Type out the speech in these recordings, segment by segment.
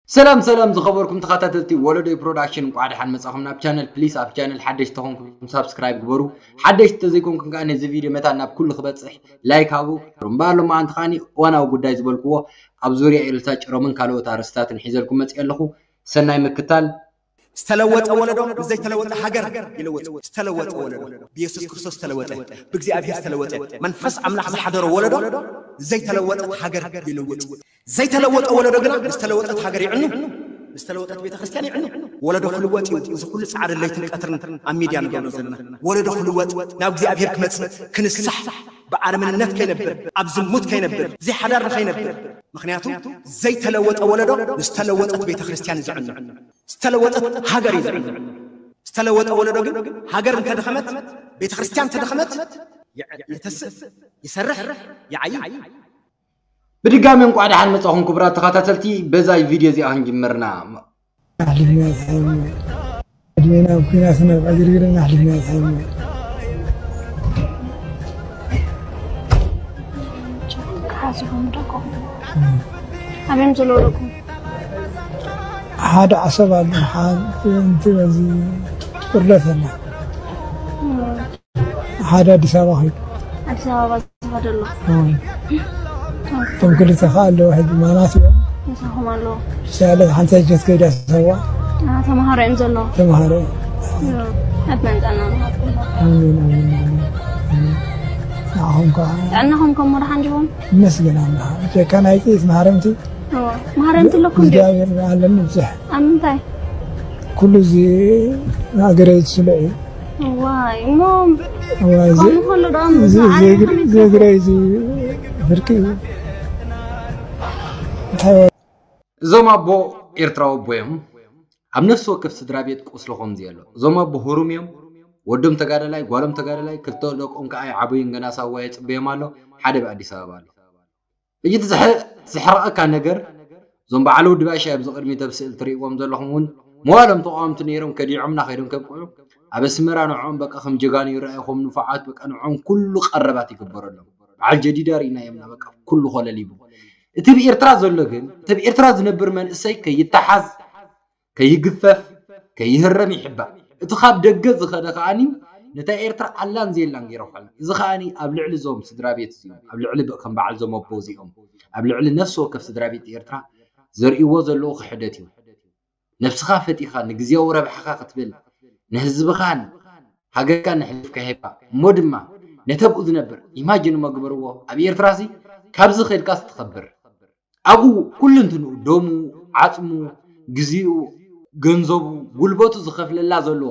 ሰላም ሰላም ዝኸበርኩም ተኸታተልቲ ወለዶይ ፕሮዳክሽን፣ እንቋዕ ደሓን መጻኹም ናብ ቻነል። ፕሊስ ኣብ ቻነል ሓደሽቲ ተኾንኩም ሳብስክራይብ ግበሩ። ሓደሽቲ ተዘይኮንኩም ከኣ ነዚ ቪድዮ መታን ናብ ኩሉ ክበጽሕ ላይክ ሃቡ። እምበኣር ሎማዓንቲ ከኣኒ እዋናዊ ጉዳይ ዝበልክዎ ኣብ ዙርያ ኤልሳ ጭሮምን ካልኦት ኣርእስታትን ሒዘልኩም መጽእ ኣለኹ። ሰናይ ምክታል። ዝተለወጠ ወለዶ ንዘይተለወጠ ሃገር ይልውጥ። ዝተለወጠ ወለዶ ብየሱስ ክርስቶስ ዝተለወጠ፣ ብእግዚኣብሔር ዝተለወጠ፣ መንፈስ ኣምላኽ ዝሓደሮ ወለዶ ዘይተለወጠት ሃገር ይልውጥ። ዘይተለወጠ ወለዶ ግና ዝተለወጠት ሃገር ይዕኑ፣ ዝተለወጠት ቤተ ክርስቲያን ይዕኑ። ወለዶ ክልወጥ እዩ። እዚ ኩሉ ጻዕሪ ለይትን ቀትርን ኣብ ሚድያ ንገብሮ ዘለና ወለዶ ክልወጥ፣ ናብ እግዚኣብሔር ክመጽእ፣ ክንሳሕ፣ ብኣረምንነት ከይነብር፣ ኣብ ዝሙት ከይነብር፣ ዘይሓዳር ንኸይነብር። ምኽንያቱ ዘይተለወጠ ወለዶ ዝተለወጠት ቤተ ክርስቲያን እዩ ዝዕኑ፣ ዝተለወጠት ሃገር እዩ ዝዕኑ። ዝተለወጠ ወለዶ ግን ሃገር እንተደኸመት፣ ቤተ ክርስቲያን እንተደኸመት፣ ይተስእ፣ ይሰርሕ፣ ይዓይ። ብድጋሚ እንቋዕ ደሓን መጻኹም ክቡራት ተኸታተልቲ። በዛ ቪድዮ እዚኣ ክንጅምርና። ኣሕሊፍና ይትሓየሞ። ዕድሜና ኣብ ኲናት ናብ ዕግርግርን ኣሕሊፍና ይትሓየሞ። ሓሲቦም ደቆም ኣበዮም ዘለዎ ደቆም ሓደ ዓሰብ ኣሎ። ሓንቲ በዚ ቁርደት ኣላ። ሓደ ኣዲስ ኣበባ ኸይዱ። ኣዲስ ኣበባ ዝኸደ ኣሎ። እቶም ክልተ ኸዓ ኣለዉ ሕጂ ማናት እዮም። ምሳኹም ኣለዉ። ሳለት ሓንቲ ሕጀት ከይዳ ሰዋ። ተምሃሮ እዮም ዘለዉ። ተምሃሮ እዮም። ዕድመን ጥዕናን ይሃብኩም። ኣሜን፣ ኣሜን፣ ኣሜን፣ ኣሜን። ንዓኹም ከዓ ጥዕናኹም ከም መድሓን ዲኹም? ይመስገን ኣምላኽ። ጀካ ናይ ጥይት ማህረምቲ። እዎ። ማህረምቲ ኣለኩም ድዩ? እግዚኣብሔር ኣለኒ ብዙሕ። ኣብ ምንታይ? ኩሉ እዚ ሃገረይ ዝስለ እዩ። ዋይ እሞ እዋ፣ እዚ ከምኡ ከሎ ደኣ እዚ ምዝዓር ዘይግር-፣ ከመይ ዘይግረ እዚ ፍርቂ እዩ። እንታይ ወ- እዞም ኣቦ ኤርትራዊ ኣቦ እዮም። ኣብ ነፍሲ ወከፍ ስድራ ቤት ቁስሊ ከምዚ ኣሎ። እዞም ኣቦ ህሩም እዮም። ወዶም ተጋዳላይ፣ ጓሎም ተጋዳላይ፣ ክልተ ደቆም ከኣ ይዓበዩን ገና ሳዋ የጽበዮም ኣሎ። ሓደ ብኣዲስ ኣበባ ኣሎ። እቲ ዝሕ-፣ ዝሕርቐካ ነገር፣ እዞም በዓል ወዲ ባሻይ ኣብዚ ቅድሚት ኣብ ስእሊ ትርእይዎም ዘለኹም እውን መዋሎም ተቃወምቲ ነይሮም፣ ከዲዖምና ከይዶም ከብቅዑ፣ ኣብ ኣስመራ ንዕኦም በቃ ከም ጀጋኑ ይረኣዩ፣ ከም ንፉዓት በቃ ንዕኦም ኩሉ ቀረባት ይግበረሎም። በዓል ጀዲዳ ርኢናዮምና በቃ ኩሉ ኮለል ይብሉ። እቲ ብኤርትራ ዘሎ ግን፣ እቲ ብኤርትራ ዝነብር መንእሰይ ከይተሓዝ፣ ከይግፈፍ፣ ከይህረም ይሕባእ። እቲ ካብ ደገ ዝኸደ ከኣኒ ነታ ኤርትራ ኣላን ዘየላን ገይሩ ክሕል። እዚ ከኣኒ ኣብ ልዕሊ እዞም ስድራ ቤት እዚኦም፣ ኣብ ልዕሊ ብ-፣ ከም በዓል እዞም ኣቦ እዚኦም፣ ኣብ ልዕሊ ነፍሲ ወከፍ ስድራ ቤት ኤርትራ ዘርእይዎ ዘለዉ ክሕደት እዩ። ነብስኻ ፈቲኻ ንግዜያዊ ረብሓኻ ክትብል፣ ንህዝብኻን ሃገርካን ንሕልፍካ ሂብካ፣ እሞ ድማ ነቲ ኣብኡ ዝነብር፣ ኢማጅን እሞ ግበርዎ፣ ኣብ ኤርትራሲ ካብዚ ከድካስ ትኸብር። ኣብኡ ኩሉ እንትንኡ፣ ደሙ፣ ዓጽሙ፣ ግዜኡ፣ ገንዘቡ፣ ጉልበቱ ዝኸፍለላ ዘሎ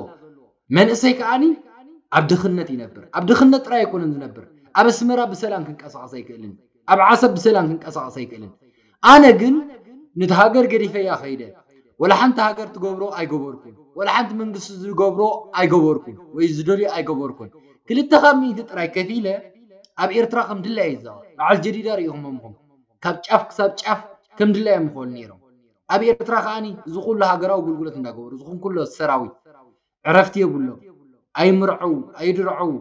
መንእሰይ ከኣኒ ኣብ ድኽነት ይነብር። ኣብ ድኽነት ጥራይ ኣይኮነን ዝነብር፣ ኣብ ኣስመራ ብሰላም ክንቀሳቐስ ኣይክእልን፣ ኣብ ዓሰብ ብሰላም ክንቀሳቐስ ኣይክእልን። ኣነ ግን ነቲ ሃገር ገዲፈያ ከይደ፣ ወላ ሓንቲ ሃገር ትገብሮ ኣይገበርኩን፣ ወላ ሓንቲ መንግስቲ ዝገብሮ ኣይገበርኩን፣ ወይ ዝደልዮ ኣይገበርኩን። ክልተ ካብ ሚእቲ ጥራይ ከፊለ ኣብ ኤርትራ ከም ድላየ ይዛወር። በዓል ጀዲዳ ርኢኹሞምኹም። ካብ ጫፍ ክሳብ ጫፍ ከም ድላዮም ይኸዱ ነይሮም። ኣብ ኤርትራ ከኣኒ እዚ ኩሉ ሃገራዊ ኣገልግሎት እንዳገበሩ፣ እዚ ኩሉ ሰራዊት ዕረፍቲ የብሎም። ኣይምርዐው፣ ኣይድርዐው፣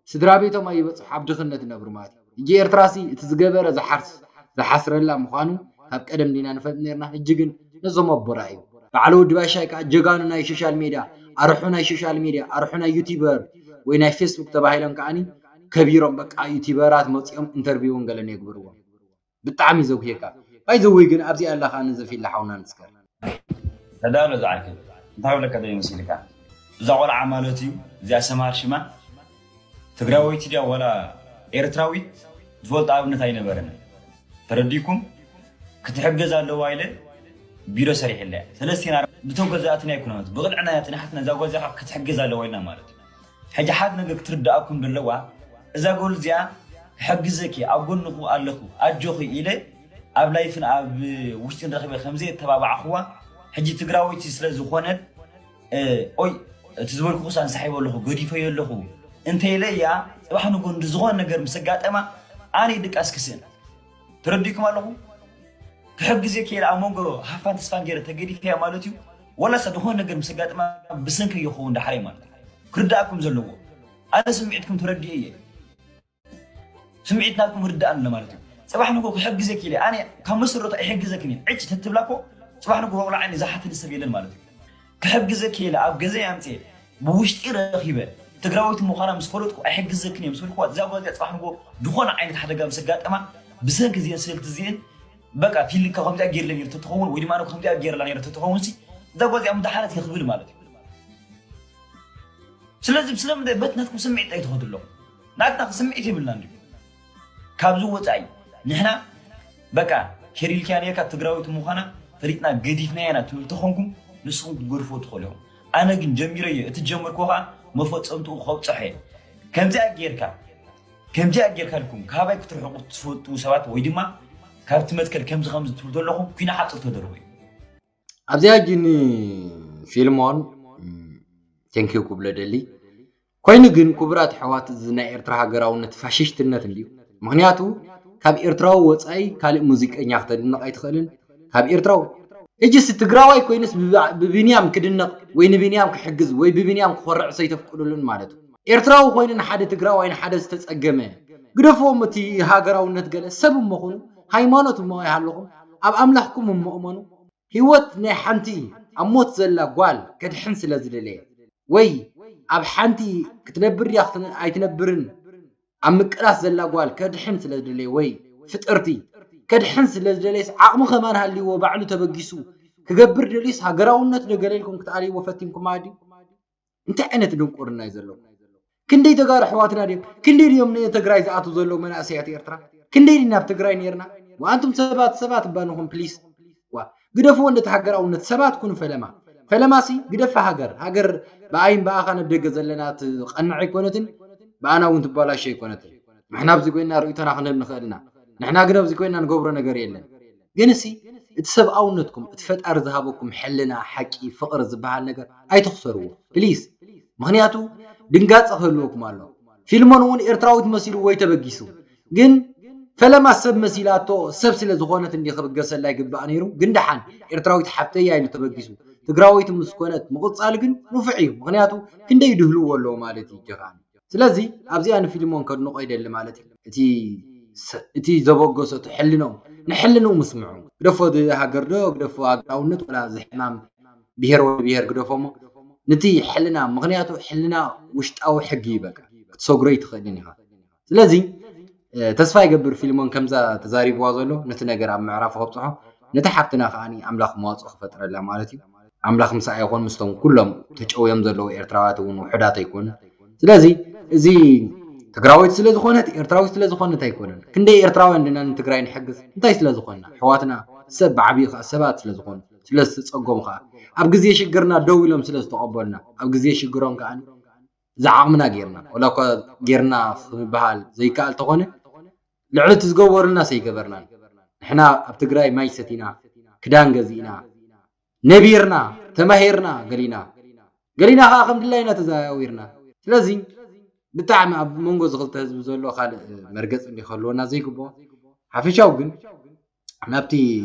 ስድራ ቤቶም ኣይበጽሑ፣ ኣብ ድኽነት ይነብሩ ማለት እዩ። ሕጂ ኤርትራሲ እቲ ዝገበረ ዝሓርስ-፣ ዝሓስረላ ምዃኑ ካብ ቀደም ዲና ንፈልጥ ነርና። ሕጂ ግን ነዞም ኣቦ ርኣዩ። በዓል ወዲ ባሻይ ከኣ ጀጋኑ ናይ ሶሻል ሜድያ፣ ኣርሑ ናይ ሶሻል ሜድያ፣ ኣርሑ ናይ ዩቲበር ወይ ናይ ፌስቡክ ተባሂሎም ከኣኒ ከቢሮም፣ በቃ ዩቲበራት መጺኦም ኢንተርቪውን ገለን የግብርዎም። ብጣዕሚ ዘጉሄካ። ባይ ዘ ወይ ግን ኣብዚ ኣላ ከኣ ነዚ ፊላ ሓውና ንስከር። ተዳሎ ዝዓይከ። እንታይ ብለካ ደይ መሲልካ? እዛ ቆልዓ ማለት እዩ፣ እዚኣ ሰምሃር ሽማ ትግራወይቲ ድያ ዋላ ኤርትራዊት ዝፈልጦ ኣብነት ኣይነበረን። ተረዲኩም? ክትሕገዝ ኣለዋ ኢለ ቢሮ ሰሪሕለያ። ሰለስቴና ብቶም ገዛእትና ኣይኮነናት፣ ብቕልዕና እያ ትንሓትና፣ እዛ ጓል እዚኣ ክትሕገዝ ኣለዋ ኢልና ማለት እዩ። ሕጂ ሓደ ነገር ክትርድኣኩም ዘለዋ፣ እዛ ጓል እዚኣ ክሕግዘኪ፣ ኣብ ጎንኹ ኣለኹ፣ ኣጆኺ ኢለ ኣብ ላይፍን ኣብ ውሽጥን ረኺበ ከምዘይ እተባባዕኽዋ፣ ሕጂ ትግራወይቲ ስለ ዝኾነት፣ እ፣ ኦይ፣ እቲ ዝበልኩኹስ ኣንሳሒበ ኣለኹ፣ ገዲፈዮ ኣለኹ እንተ ኢለ እያ፣ ጽባሕ ንጎ እንዲ ዝኾነ ነገር ምስ ኣጋጠማ፣ ኣነ ድቃስ ክስእን። ተረዲእኩም ኣለኹ? ክሕግዝ እየ ክኢለ ኣብ መንጎ ሃፋን ተስፋን ገይረ ተገዲፈያ ማለት እዩ። ወላ ሰብ ዝኾነ ነገር ምስ ኣጋጥማ ብሰንኪ ይኸውን ዳሕረይ ማለት እዩ። ክርዳእኩም ዘለዎ። ኣነ ስምዒትኩም ተረዲኤ እየ። ስምዒት ናትኩም ርዳእ ኣሎ ማለት እዩ። ጽባሕ ንጎ ክሕግዝ እየ ክኢለ፣ ኣነ ካብ መሰረቱ ኣይሕግዘክን እየ። ዕጭ ተትብላ እኮ ጽባሕ ንግሆ ቆልዓ ዓይኒ ዝሓተኒ ሰብ የለን ማለት እዩ። ክሕግዘኪ ኢለ ኣብ ገዛይ ኣምጽኤ ብውሽጢ ረኺበ ትግራወይቲ ምዃና ምስ ፈለጥኩ ኣይሕግዘክን እየ ምስ በልኩዋ፣ እዛ ጓል እዚኣ ጽባሕ ንግሆ ዝኾነ ዓይነት ሓደጋ ምስ ኣጋጠማ ብሰንኪ እዚአን ስእልቲ እዚአን በቃ ፊሊንካ ከምዚኣ ገይርለ ነይሩ ተትኸውን ወይ ድማ ከምዚኣ ገይርላ ነይሩ ተትኸውን ሲ እዛ ጓል እዚኣ ምድሓነት እየ ክብል ማለት እዩ። ስለዚ ስለምንታይ በት ናትኩም ስምዒት ኣይትኸዱ ኣለኹም? ናትና ስምዒት የብልና እንዲ ካብዚ ወፃኢ ንሕና በቃ ኬሪልኪያ ነርካ ትግራዊት ምዃና ፈሊጥና ገዲፍናያ ኢና ትብል ተኾንኩም ንስኹም ክትገድፍዎ ትኽእሉ ኢኹም። ኣነ ግን ጀሚረዮ እቲ ጀመርኩ ከዓ መፈፀምትኡ ከብፅሖ እየ። ከምዚኣ ጌርካ ከምዚኣ ጌርካ ኢልኩም ካባይ ክትርሕቁ ትፈልጡ ሰባት ወይ ድማ ካብቲ መትከል ከምዚ ከምዚ ትብሉ ዘለኹም ኩና ሓፅር ተደርቦ እዩ። ኣብዚኣ ግን ፊልሞን ቴንኪዩ ክብሎ ደሊ። ኮይኑ ግን ክቡራት ኣሕዋት እዚ ናይ ኤርትራ ሃገራውነት ፋሽሽትነት እንድዩ። ምኽንያቱ ካብ ኤርትራዊ ወፃኢ ካልእ ሙዚቀኛ ክተድንቕ ኣይትኽእልን። ካብ ኤርትራዊ ሕጂስ ትግራዋይ ኮይኑስ ብባ- ብቢንያም ክድነቕ ወይ ንቢንያም ክሕግዝ ወይ ብቢንያም ክኾርዕ ሰይተፍቅዱሉን ማለት እዩ። ኤርትራዊ ኮይኑ ንሓደ ትግራዋይ ንሓደ ዝተፀገመ ግደፍዎም። እቲ ሃገራውነት ገለ ሰብ እሞ ኹኑ ሃይማኖት እሞ ኣይሃለኹም ኣብ ኣምላኽኩም እሞ እመኑ። ህይወት ናይ ሓንቲ ኣብ ሞት ዘላ ጓል ከድሕን ስለ ዝደለየ ወይ ኣብ ሓንቲ ክትነብር ድያ ኣይትነብርን ኣብ ምቅላስ ዘላ ጓል ከድሕን ስለ ዝደለየ ወይ ፍጥርቲ ከድሕን ስለ ዝደለየስ ዓቕሚ ከማን ሃልይዎ ባዕሉ ተበጊሱ ክገብር ደልዩስ ሃገራውነት ዶ ገለ ኢልኩም ክትኣልይዎ ፈቲንኩም ኣዲ እንታይ ዓይነት ድንቁርና እዩ ዘለኩም? ክንደይ ተጋሩ ኣሕዋትና ድዮም? ክንደይ ድዮም ንትግራይ ዝኣትዉ ዘለዉ መናእሰያት ኤርትራ? ክንደይ ድና ኣብ ትግራይ ነይርና? ወኣንቱም ሰባት ሰባት እባ ንኹን ፕሊስ። ዋ ግደፍዎ እንደ ተሃገራውነት ሰባት ኩኑ ፈለማ። ፈለማሲ ግደፋ ሃገር። ሃገር ብኣይን ብኣኻን ኣብ ደገ ዘለና ትቐንዕ ኣይኮነትን ብኣና እውን ትባላሽ ኣይኮነትን። ንሕና ኣብዚ ኮይና ርእይቶና ክንህብ ንኽእል ኢና። ንሕና ግን ኣብዚ ኮይና ንገብሮ ነገር የለን። ግን እሲ እቲ ሰብኣውነትኩም እቲ ፈጣሪ ዝሃበኩም ሕልና ሓቂ ፍቕሪ ዝበሃል ነገር ኣይትኽሰርዎ ፕሊስ። ምኽንያቱ ድንጋፀ ክህልወኩም ኣሎ። ፊልሞን እውን ኤርትራዊት መሲሉ ወይ ተበጊሱ ግን ፈለማ ሰብ መሲላቶ ሰብ ስለ ዝኾነት እንዲ ክብገሰላ ይግባእ ነይሩ። ግን ደሓን ኤርትራዊት ሓፍተያ ኢሉ ተበጊሱ ትግራወይቲ ምስ ኮነት ምቕፃል ግን ንፉዕ እዩ። ምኽንያቱ ክንደይ ድህልዎ ኣለዎ ማለት እዩ ጀኻኒ። ስለዚ ኣብዚኣ ንፊልሞን ከድንቆ ይደሊ ማለት እዩ። እቲ ዘበገሶ እቲ ሕልንኦም ንሕልንኡ ምስምዑ ግደፎ ሃገር ዶ ግደፎ ሃገራውነት ወላ እዚ ሕማም ብሄር ወዲ ብሄር ግደፎሞ ንቲ ሕልና ምክንያቱ ሕልና ውሽጣዊ ሕጊ እዩ በቃ ክትሰግሮ ይትኽእልን ኢኻ። ስለዚ ተስፋ ይገብር ፊልሞን ከምዛ ተዛሪብዋ ዘሎ ነቲ ነገር ኣብ ምዕራፉ ከብፅሖ ነቲ ሓፍትና ከዓ ኣምላኽ መዋፅኦ ክፈጥረላ ማለት እዩ። ኣምላኽ ምሳኣ ይኹን ምስቶም ኩሎም ተጨውዮም ዘለዉ ኤርትራውያት እውን ውሑዳት ኣይኮኑን። ስለዚ እዚ ትግራወይቲ ስለ ዝኾነት ኤርትራዊት ስለ ዝኾነት ኣይኮነን። ክንደይ ኤርትራውያን ድና ንትግራይ ንሕግዝ እንታይ ስለ ዝኾንና ኣሕዋትና ሰብ ብዓብዩ ከዓ ሰባት ስለ ዝኾኑ ስለ ዝተፀገሙ ከዓ ኣብ ግዜ ሽግርና ደው ኢሎም ስለ ዝተቐበሉና ኣብ ግዜ ሽግሮም ከዓ ዝዓቕምና ጌርና ወላ እኳ ጌርና ክበሃል ዘይከኣል ተኾነ ልዕሊ እቲ ዝገበሩልና ሰይገበርናን ንሕና ኣብ ትግራይ ማይ ሰቲና ክዳን ገዚእና ነቢርና ተማሂርና ገሊና ገሊና ከዓ ከም ድላይና ተዘዋዊርና ስለዚ ብጣዕሚ ኣብ መንጎ ዝክልተ ህዝቢ ዘሎ ካልእ መርገፂ እንዲ ክህልወና ዘይግብኦ ሓፈሻው ግን ናብቲ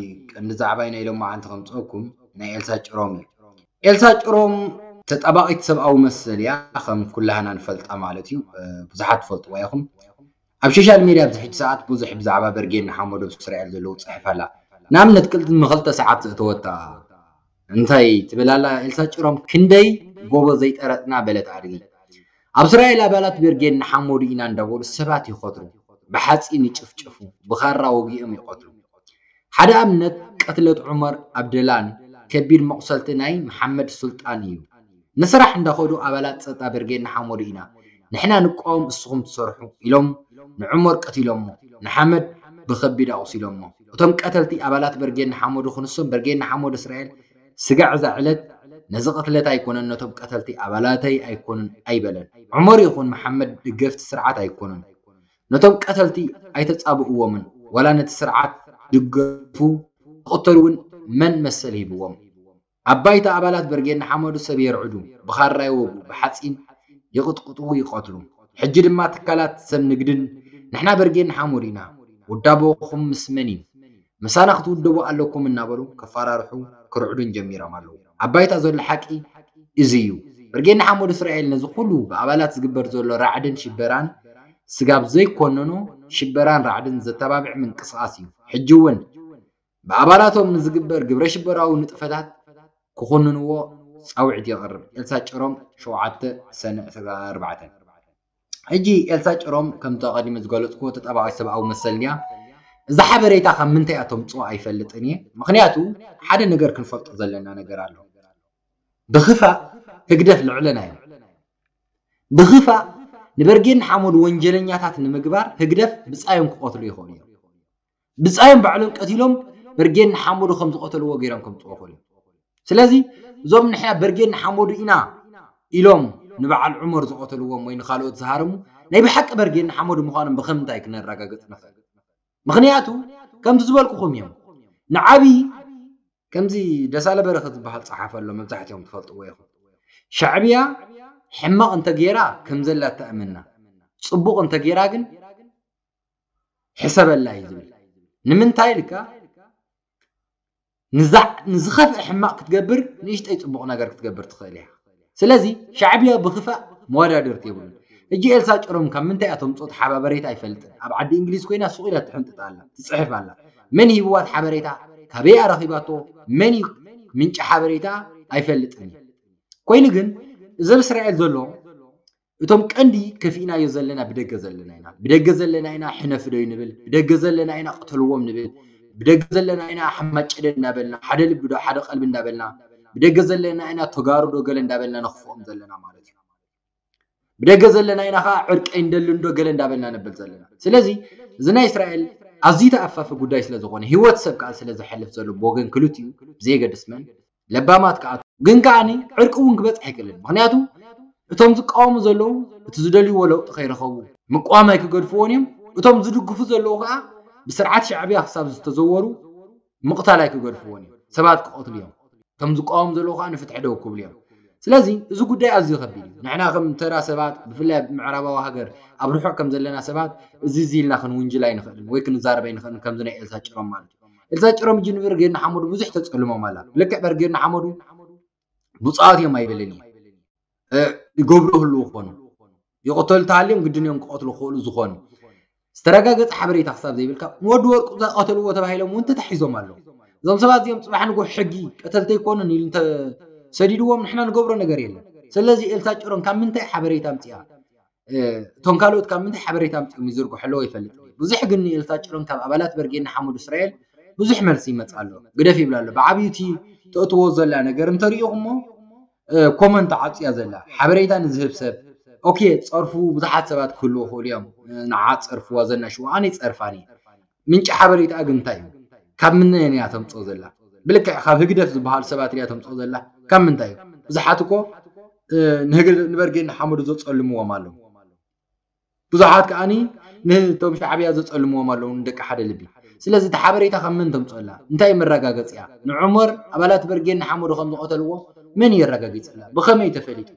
ቀንዲ ዛዕባይ ናይ ሎማዓንቲ ከምፅአኩም ናይ ኤልሳ ጭሮም እዩ ኤልሳ ጭሮም ተጣባቂት ሰብኣዊ መሰል እያ ከም ኩላህና ንፈልጣ ማለት እዩ ብዙሓት ትፈልጥዋ ኢኹም ኣብ ሶሻል ሜድያ ኣብዚ ሕጂ ሰዓት ብዙሕ ብዛዕባ በርጌድ ንሓመዱ ኣብ እስራኤል ዘለዉ ትፅሕፍ ኣላ ንኣብነት ቅድሚ ክልተ ሰዓት ዘእተወታ እንታይ ትብል ኣላ ኤልሳ ጭሮም ክንደይ ጎቦ ዘይጠረጥና በለት ኣድጊ ኣብ እስራኤል ኣባላት በርጌድ ንሓመዱ ኢና እንዳበሉ ሰባት ይኸትሩ ብሓፂን ይጭፍጭፉ ብኻራ ወጊኦም ይቐትሉ ሓደ ኣብነት ቀትለት ዑመር ኣብደላን ከቢድ መቑሰልቲ ናይ መሓመድ ሱልጣን እዩ ንስራሕ እንዳኸዱ ኣባላት ፀጥታ በርጌድ ንሓመዱ ኢና ንሕና ንቃወም እስኹም ትሰርሑ ኢሎም ንዑመር ቀቲሎሞ ንሓመድ ብኸቢድ ኣቑሲሎሞ እቶም ቀተልቲ ኣባላት በርጌድ ንሓመዱ ክንሶም በርጌድ ንሓመዱ እስራኤል ስጋዕ እዛ ዕለት ነዚ ቅትለት ኣይኮነን ነቶም ቀተልቲ ኣባላተይ ኣይኮኑን ኣይበለን ዑመር ይኹን መሓመድ ደገፍቲ ስርዓት ኣይኮኑን ነቶም ቀተልቲ ኣይተፃብእዎምን ዋላ ነቲ ስርዓት ድገፉ ክቕተሉ እውን መን መሰል ሂብዎም ኣብ ባይታ ኣባላት በርጌድ ንሓመዱ ሰብ የርዕዱ ብኻራ ይወጉ ብሓፂን ይቕጥቅጡ ይቐትሉ ሕጂ ድማ ትካላት ሰብ ንግድን ንሕና በርጌድ ንሓመዱ ኢና ውዳበኹም ምስ መን እዩ ምሳና ክትውደቡ ኣለኩም እናበሉ ከፈራርሑ ክርዕዱን ጀሚሮም ኣለዉ ኣብ ባይታ ዘሎ ሓቂ እዚ እዩ ብርጌድ ንሓመዱ እስራኤል ነዚ ኩሉ ብኣባላት ዝግበር ዘሎ ራዕድን ሽበራን ስጋብ ዘይኮነኖ ሽበራን ራዕድን ዘተባብዕ ምንቅስቃስ እዩ ሕጂ እውን ብኣባላቶም ንዝግበር ግብረ ሽበራዊ ንጥፈታት ክኹንንዎ ጻውዒት የቕርብ። ኤልሳ ጭሮም፣ ሸውዓተ ሰነ ዕስራን ኣርባዕተን። ሕጂ ኤልሳ ጭሮም፣ ከምቲ ኣቐዲመ ዝገለጽኩዎ፣ ተጣባቒ ሰብኣዊ መሰል እንድያ። እዛ ሓበሬታ ካብ ምንታይ እያ ተምጽኦ ኣይፈልጥን እየ። ምኽንያቱ ሓደ ነገር ክንፈልጦ ዘለና ነገር ኣሎ። ብኽፋእ ህግደፍ ልዕለና እዮም። ብኽፋእ ንበርጌድ ንሓመዱ ወንጀለኛታት ንምግባር ህግደፍ ብጻዮም ክቐትሉ ይኽእሉ እዮም። ብጻዮም ባዕሎም ቀቲሎም በርጌድ ንሓመዱ ከም ዝቐተልዎ ገይሮም ከምጽኡ ይኽእሉ እዮም። ስለዚ እዞም ንሕና በርጌድ ንሓመዱ ኢና ኢሎም ንበዓል ዑመር ዝቐተልዎም ወይ ንኻልኦት ዝሃረሙ ናይ ብሓቂ በርጌድ ንሓመዱ ምዃኖም ብኸምንታይ ክነረጋግጽ ንኽእል? ምኽንያቱ ከምቲ ዝበልኩኹም እዮም። ንዓቢ ከምዚ ደሳለ በረኸት ዝበሃል ጸሓፊ ኣሎ፣ መብዛሕትኦም ትፈልጥዎ ኢኹም። ሻዕብያ ሕማቕ እንተገይራ ከም ዘላ ተኣምና፣ ጽቡቕ እንተገይራ ግን ሕሰበላ እዩ ዝብል። ንምንታይ ኢልካ? ንዛ ንዝኸፍአ ሕማቕ ክትገብር ንእሽተይ ጽቡቕ ነገር ክትገብር ትኽእል እያ። ስለዚ ሻዕብያ ብኽፋእ መወዳድርቲ የብሉን። ሕጂ ኤልሳ ጭሮም ካብ ምንታይ እያ ተምጽኦ ሓበሬታ ኣይፈልጥን። ኣብ ዓዲ እንግሊዝ ኮይና ሱቕ ኢላ ትሕንጥጥ ኣላ፣ ትጽሕፍ ኣላ። መን ሂብዋ እቲ ሓበሬታ? ካበይ እያ ረኺባቶ? መን እዩ ምንጪ ሓበሬታ? ኣይፈልጥን እዩ። ኮይኑ ግን እዚ ኣብ እስራኤል ዘሎ እቶም ቀንዲ ከፊእናዮ ዘለና ብደገ ዘለና ኢና። ብደገ ዘለና ኢና ሕነፍዶ ንብል፣ ብደገ ዘለና ኢና ቅተልዎም ንብል፣ ብደገ ዘለና ኢና ሓማጨደ እንዳበልና፣ ሓደ ልቢ ዶ ሓደ ቀልቢ እንዳበልና፣ ብደገ ዘለና ኢና ተጋሩ ዶ ገለ እንዳበልና ነኽፍኦም ዘለና ማለት እዩ። ብደገ ዘለና ኢና ኸዓ ዕርቂ ኣይንደልን ዶ ገለ እንዳበልና ነብል ዘለና። ስለዚ እዚ ናይ እስራኤል ኣዝዩ ተኣፋፊ ጉዳይ ስለ ዝኾነ፣ ህይወት ሰብ ከዓ ስለ ዝሐልፍ ዘሎ ብወገን ክልቲኡ ብዘየገድስ መን ለባማት ከዓ ግን ከዓኒ ዕርቂ እውን ክበፅሕ ኣይክእልን። ምኽንያቱ እቶም ዝቃወሙ ዘለዉ እቲ ዝደልይዎ ለውጢ ከይረኸቡ ምቅዋም ኣይክገድፍዎን እዮም። እቶም ዝድግፉ ዘለዉ ከዓ ብስርዓት ሻዕብያ ክሳብ ዝተዘወሩ ምቕታል ኣይክገድፍዎን እዮም። ሰባት ክቐትሉ እዮም። እቶም ዝቃወሙ ዘለዉ ከዓ ንፍትሒ ደው ክብሉ እዮም። ስለዚ እዚ ጉዳይ ኣዝዩ ከቢድ እዩ። ንሕና ከም ተራ ሰባት ብፍላይ ኣብ ምዕራባዊ ሃገር ኣብ ርሑቕ ከም ዘለና ሰባት እዚ እዚ ኢልና ክንውንጅል ኣይንኽእልን ወይ ክንዛረብ ኣይንኽእልን ከምዚ ናይ ኤልሳ ጭሮም ማለት እዩ። ኤልሳ ጭሮም ሕጂ ንበርጌድ ንሓመዱ ብዙሕ ተጸልሞም ኣላ። ልክዕ በርጌድ ንሓመዱ ብፁዓት እዮም ኣይበልን እየ። እ፣ ይገብሩ ህልው ክኾኑ። ይቕተሉ ተሃልዮም ግድን እዮም ክቐትሉ ክኽእሉ ዝኾኑ። ዝተረጋገጸ ሓበሬታ ክሳብ ዘይብልካ ንወዲ ወርቁ ዝቐተልዎ ተባሂሎም እውን ተታሒዞም ኣለዉ። እዞም ሰባት እዚኦም ጽባሕ ንጎ ሕጊ ቀተልቲ ኣይኮኑን ኢሉ እንተሰዲድዎም ንሕና ንገብሮ ነገር የለን። ስለዚ ኤልሳ ጭሮም ካብ ምንታይ ሓበሬታ ኣምጺኣ? እ፣ እቶም ካልኦት ካብ ምንታይ ሓበሬታ ኣምጺኦም ይዝርግሑ ኣለዉ ኣይፈልጥን። ብዙሕ ግን ንኤልሳ ጭሮም ካብ ኣባላት በርጌድ ንሓመዱ እስራኤል ብዙሕ መልሲ ይመጽእ ኣሎ። ግደፍ ይብላ ኣሎ። ብዓብዩ እቲ ተእትዎ ዘላ ነገር እንተሪኢኹሞ፣ እ፣ ኮመንት ዓጽያ ዘላ። ሓበሬታ ንዝህብ ሰብ፣ ኦኬ፣ ጸርፉ ብዙሓት ሰባት ክህልዉ ይኽእሉ እዮም። እ፣ ንዓ ጸርፍዋ ዘናሽዋ፣ ኣነ ይጸርፋኒ። ምንጪ ሓበሬታ ግን እንታይ እዩ? ካብ ምንታይ እያ ተምጽኦ ዘላ? ብልክዕ ካብ ህግደፍ ዝበሃሉ ሰባት እያ ተምጽኦ ዘላ። ካብ ምንታይ እዩ? ብዙሓት እኮ፣ እ፣ ንህግ-፣ ንበርጌድ ንሓመዱ ዘጸልምዎም ኣለዉ። ብዙሓት ከዓኒ ነቶም ሻዕብያ ዘጸልምዎም ኣለዉ ንደቂ ሓደ ልቢ። ስለዚ እቲ ሓበሬታ ካብ መን ተምጽኦ ኣላ? እንታይ መረጋገጺ እያ? ንዑመር ኣባላት በርጌድ ንሓመዱ ከም ዝቐተልዎ መን እዩ የረጋጊጸላ? ብኸመይ ተፈሊጡ?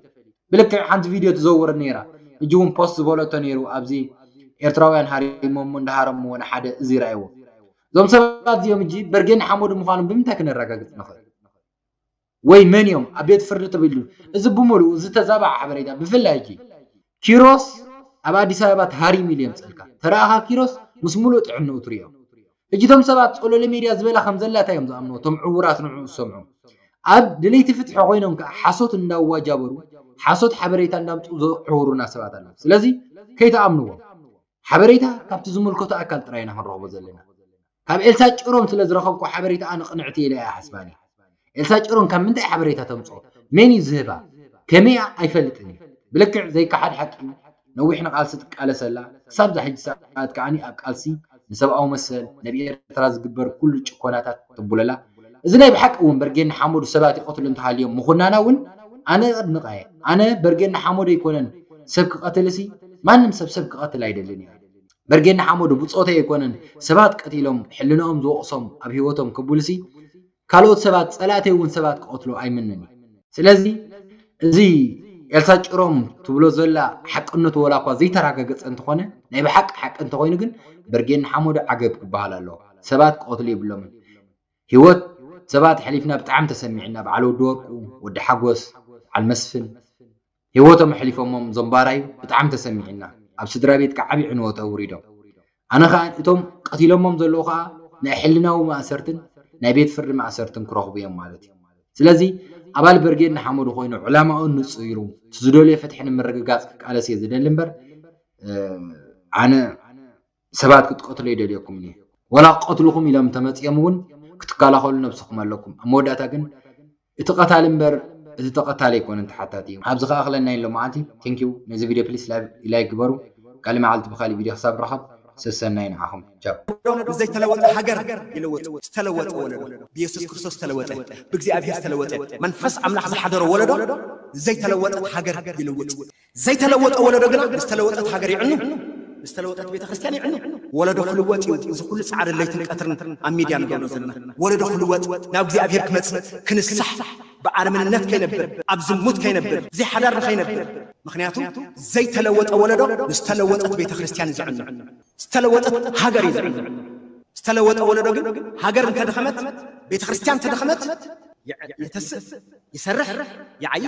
ብልክዕ ሓንቲ ቪድዮ ትዘውር ነይራ። ሕጂ እውን ፖስት ዝበለቶ ነይሩ ኣብዚ ኤርትራውያን ሃሪሞሞ እንዳሃረምዎ ንሓደ እዚ ረኣይዎ። እዞም ሰባት እዚኦም ሕጂ በርጌድ ንሓመዱ ምዃኖም ብምንታይ ክነረጋግጽ ንኽእል? ወይ መን እዮም ኣብ ቤት ፍርዲ ተበሉ? እዚ ብምሉኡ ዝተዛባዐ ሓበሬታ ብፍላይ ሕጂ ኪሮስ ኣብ ኣዲስ ኣበባ ተሃሪሙ ኢሉ የምጸልካ። ተረኣኻ ኪሮስ ምስ ሙሉእ ጥዕንኡ ትሪኦ። ሕጂ እቶም ሰባት ጸሎለ ሜድያ ዝበላ ከም ዘላታ እዮም ዝኣምንዎ፣ እቶም ዕዉራት ንዕኡ ዝሰምዑ። ኣብ ድለይቲ ፍትሒ ኮይኖም ከኣ ሓሶት እንዳዋጃበሩ፣ ሓሶት ሓበሬታ እንዳምጽኡ ዘዕውሩና ሰባት ኣለዉ። ስለዚ ከይትኣምንዎም። ሓበሬታ ካብቲ ዝምልከቶ ኣካል ጥራይ ኢና ክንረኽቦ ዘለና። ካብ ኤልሳ ጭሮም ስለ ዝረኸብኩ ሓበሬታ ኣነ ቅንዕቲ ኢለ እየ ሓስባኒ። ኤልሳ ጭሮም ካብ ምንታይ ሓበሬታ ተምጽኦ? መን እዩ ዝህባ? ከመይ እያ? ኣይፈልጥን እዩ። ብልክዕ ዘይከሓድ ሓቂ እዩ። ነዊሕ ንቃልሲ ትቃለስ ኣላ። ክሳብ እዛ ሕጂ ሰዓት ከዓኒ ኣብ ቃልሲ ንሰብኣዊ መሰል፣ ነብ ኤርትራ ዝግበር ኩሉ ጭኮናታት ትቡለላ። እዚ ናይ ብሓቂ እውን በርጌድ ንሓመዱ ሰባት ይቐትሉ እንተሃልዮም ምኹናና እውን ኣነ እድንቓ እየ። ኣነ በርጌድ ንሓመዱ ኣይኮነን ሰብ ክቐትልሲ፣ ማንም ሰብ ሰብ ክቐትል ኣይደልን እየ። በርጌድ ንሓመዱ ብጾተይ ኣይኮነን ሰባት ቀቲሎም ሕልንኦም ዝወቕሶም ኣብ ህይወቶም ክብልሲ፣ ካልኦት ሰባት ጸላእተይ እውን ሰባት ክቐትሉ ኣይምንን እየ። ስለዚ እዚ ኤልሳ ጭሮም ትብሎ ዘላ ሓቅነቱ ወላ እኳ ዘይተረጋገጸ እንተኾነ፣ ናይ ብሓቂ ሓቂ እንተኾይኑ ግን በርጌድ ንሓመዱ ዓገብ ክበሃል ኣለዎ። ሰባት ክቐትሉ የብሎምን። ህይወት ሰባት ሕሊፍና ብጣዕሚ ተሰሚዕና፣ በዓል ወዲ ወርቁ፣ ወዲ ሓጎስ፣ በዓል መስፍን ህይወቶም ኣሕሊፎሞም ዞም ባራዩ ብጣዕሚ ተሰሚዕና። ኣብ ስድራ ቤት ከዓ ዓቢ ዕንወት ኣውሪዶም። ኣነ ከዓ እቶም ቀቲሎሞም ዘለዉ ከዓ ናይ ሕልናዊ ማእሰርትን ናይ ቤት ፍርዲ ማእሰርትን ክረኽቡ እዮም ማለት እዩ። ስለዚ ኣባል ብርጌድ ንሓመዱ ኮይኑ ዕላማኡ ንፅይሩ ዝደልዮ ፍትሒ ንምርግጋፅ ክቃለስ እየ ዝደሊ እምበር ኣነ ሰባት ክትቀትሎ ይደልየኩም እዩ። ወላ ክቀትልኹም ኢሎም ተመፅኦም እውን ክትከላኸሉ ነብስኹም ኣለኩም። ኣብ መወዳእታ ግን እቲ ቀታሊ እምበር እቲ ተቐታሊ ኣይኮነን ተሓታቲ እዩ። ኣብዚ ከኣኽለና ኢሎ መዓልቲ። ቴንኪዩ። ነዚ ቪድዮ ፕሊስ ላይክ ግበሩ። ካሊ መዓልቲ ብካሊ ቪድዮ ክሳብ ረኸብ ሰሰናይ ንዓኹም። ቻው። ዘይተለወጠ ሃገር ይልውጥ፣ ዝተለወጠ ወለዶ፣ ብኢየሱስ ክርስቶስ ዝተለወጠ፣ ብእግዚኣብሔር ዝተለወጠ፣ መንፈስ ኣምላኽ ዝሓደሮ ወለዶ ዘይተለወጠት ሃገር ይልውጥ። ዘይተለወጠ ወለዶ ግና ዝተለወጠት ሃገር ይዕኑ። ዝተለወጠት ቤተ ክርስቲያን ይዕኑ። ወለዶ ክልወጥ እዩ። እዚ ኩሉ ፃዕሪ ለይትን ቀትርን ኣብ ሚድያ ንገብሮ ዘለና ወለዶ ክልወጥ ናብ እግዚኣብሔር ክመፅእ ክንሳሕ ብኣረምንነት ከይነብር ኣብ ዝሙት ከይነብር ዘይሓዳር ከይነብር። ምክንያቱ ዘይተለወጠ ወለዶ ዝተለወጠት ቤተ ክርስቲያን እዩ ዝዕኑ። ዝተለወጠት ሃገር እዩ ዝዕኑ። ዝተለወጠ ወለዶ ግን ሃገር እንተደኸመት ቤተ ክርስቲያን እንተደኸመት የተስእ ይሰርሕ ይዓይ